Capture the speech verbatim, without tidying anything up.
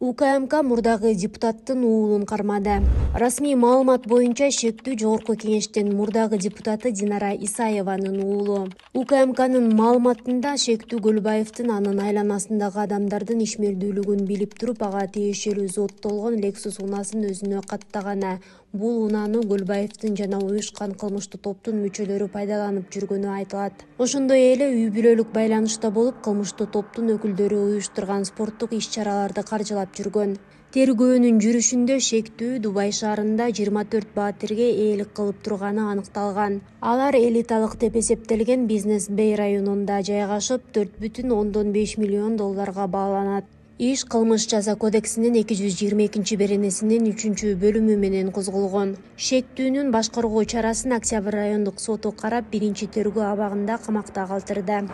УКМК мурдагы депутаттын уулун кармады. Расмий маалымат боюнча шектүү жогорку кеңештин мурдагы депутаты Динара Исаеванын уулу. УКМКнын маалыматында Шектүү Көлбаевдин анын айланасындагы адамдардын ишмердүүлүгүн билип туруп ага тиешелүү зооттолгон Lexus унаасын өзүнө каттаганы. Бул унааны Көлбаевдин жана уюшкан кылмыштуу топтун мүчөлөрү пайдаланып жүргөнү айтылат. Ошондой эле үй бүлөлүк байланышта болуп, кылмыштуу топтун өкүлдөрү уюштурган спорттук иш-чараларды каржылап жүргөн. Тергөөнүн жүрүшүндө Шектүү Дубай шаарында жыйырма төрт баатирге ээлик кылып турганы аныкталган. Алар элиталык деп эсептелген Бизнес Бэй районунда жайгашып, төрт бүтүн ондон беш миллион долларга бааланат. Иш Кылмыш жаза кодексинин эки жүз жыйырма экинчи беренесинин үчүнчү бөлүмү менен козголгон. Шектүүнүн башкаруу чарасын Октябрь райондук соту карап, биринчи тергөө абагында камакта калтырды.